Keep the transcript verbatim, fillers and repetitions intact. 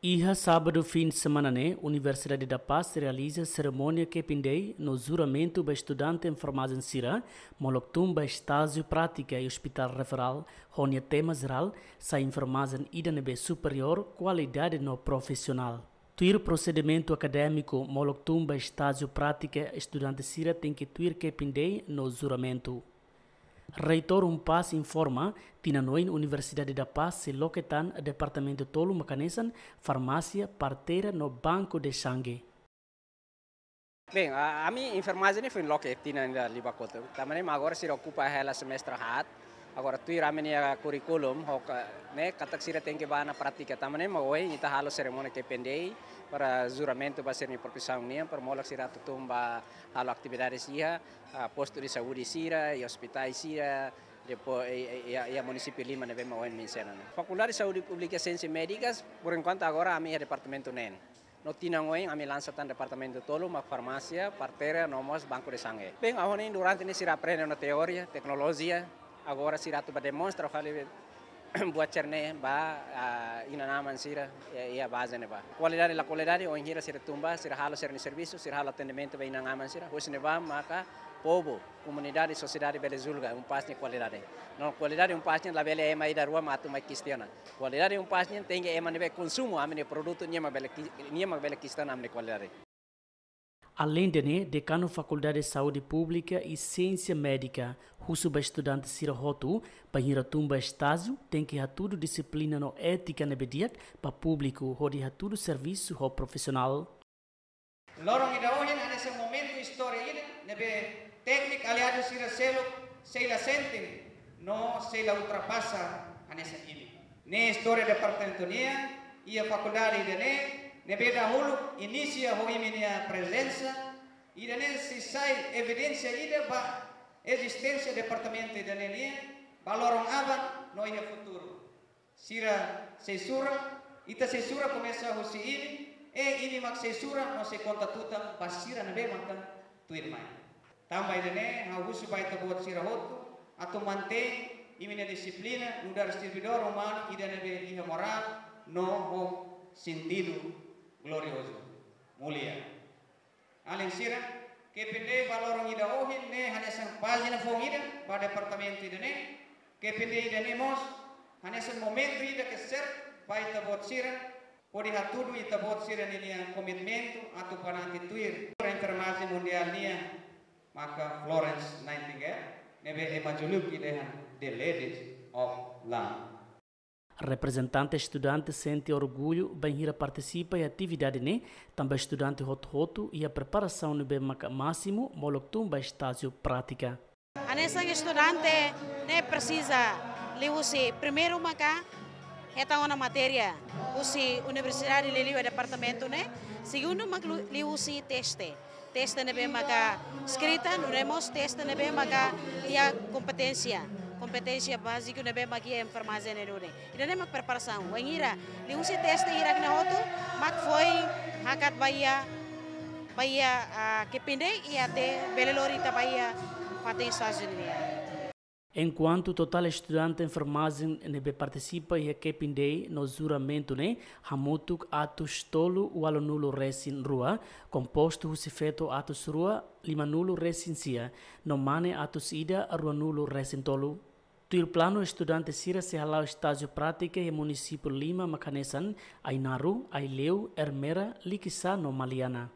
Iha sábadu fin de semana ne'e, Universidade da Paz realiza serimónia Kepin Day no juramentu ba estudante enfermajen sira, molok tun ba estájiu prátika iha Hospital Referral, ho nia tema jerál, sai enfermajen ida ne'ebé superiór, kualidade no profisionál. Tuir prosedimentu akadémiku, molok tun ba estájiu prátika, estudante sira tenke tuir Kepin Day no juramentu. Reitór UNPAZ informa, tinan oin Universidade da Paz sei loke tan departamentu tolu mak hanesan farmásia, parteira no banku de sangue. Bem, a, ami enfermajen ne'e foin loke tinan ida liubá kotuk. Tanba ne'e mak agora sira okupa hela semestre haat. Agora tuir ami-nia kurríkulu, ho ka, ne'e katak sira tenke bá ona prátika. Tanba ne'e mak ohin ita halo serimónia Kepin Day para juramentu ba sira-nia profisaun nian, para molok sira atu tun ba halo atividade sira, ah, postu de saúde sira, iha ospitais sira, depois, iha, iha, iha munisípiu lima ne'ebé mak ohin mensiona ne'e. Fakuldade Saúde Públika Siénsias Médikas, por enkuantu agora ami iha departamentu neen. No tinan oin ami lansa tan departamentu tolu, mak farmásia, parteira, no mós banku de sangue. Bem, agora ne'e durante ne'e sira aprende ona teoria, teknolojia, agora sira atu bá demonstra fali buat sira-ne'e ba, ah, inan-aman sira, iha, iha baze ne'ebá. Kualidade la kualidade, oinsá sira tun ba, sira halo sira-nia servisu, sira halo atendimentu ba inan-aman sira, husi ne'ebá maka povu, komunidade, sosiedade bele julga UNPAZ nia kualidade. No kualidade UNPAZ nian labele ema ida rua mak atu mai kestiona. Kualidade UNPAZ nian tenke ema ne'ebé konsumu ami-nia produtu, nia mak bele ki-, nia mak bele kestiona ami-nia kualidade. Aleinde ne'e, Dekanu Fakuldade Saúde Públika i Siénsia Médika husu ba estudante sira hotu, bainhira tun ba estájiu, tenke hatudu dixiplina no étika ne'ebé di'ak ba públiku hodi hatudu servisu ho profisionál. Loron ida ohin hanesan momentu istória ida ne'ebé tékniku aliadu sira seluk sei la sente no sei la ultrapasa hanesan ida-ne'e. Ne'e istória departamentu nian, iha fakuldade ida-ne'e, ne'ebé dahuluk inisia ho imi-nia prezensa, ida-ne'e sei sai evidénsia ida ba ezisténsia departamentu ida-ne'e nian, ba loron aban no iha futuru. Sira sei sura, ita sei sura komesa husi imi, i imi mak sei sura no sei konta tutan ba sira ne'ebé maka tuirmai. Tanba ida-ne'e, ha'u husu ba ita-boot sira hotu, atu mantein imi-nia dixiplina, nu'udar servidór umanu ida ne'ebé iha morál, no ho sentidu gloriozu, mulia. Alin sira, Kepin Day ba loron ida ohin ne'e hanesan pájina foun ida ba departamentu ida-ne'e. Kepin Day ida-ne'e mós hanesan momentu ida ke serve ba ita-boot sira, hodi hatudu ita-boot sira ninia komitmentu atu banati tuir Enfermajen Mundiál nian, maka Florence Nightingale, ne'ebé ema juluk ida dehan The Ladies of London. Reprezentante estudante sente orgullu bainhira partisipa iha atividade ne'e, tanba estudante hotu-hotu iha preparasaun ne'ebé maka másimu molok tun ba estájiu prátika. Hanesan estudante ne'e presiza liuhusi primeiru maka hetan ona matéria husi universidade liuliu departamentu ne'e, segundu mak lu-, liuhusi teste. Teste ne'ebé maka eskrita, nune'e mós teste ne'ebé maka iha kompeténsia. Kompeténsia báziku ne'ebé maka iha enfermajen ne'e duni. Ida-ne'e mak preparasaun. Wainhira liuhusi teste hirak-ne'e hotu, mak foin hakat ba iha, ba iha, ah, Kepin Day i até bele lori ita ba iha fatin estájiu nian. Enkuantu totál estudante enfermajen ne'ebé partisipa iha Kepin Day no juramentu ne'e hamutuk atus tolu ualunulu resin rua, kompostu husi feto atus rua limanulu resin sia, no mane atus ida ruanulu resin tolu. Tuir planu estudante sira sei hala'o estájiu prátika iha munisípiu lima mak hanesan Ainaro, Aileu, Ermera, Likisá no Maliana.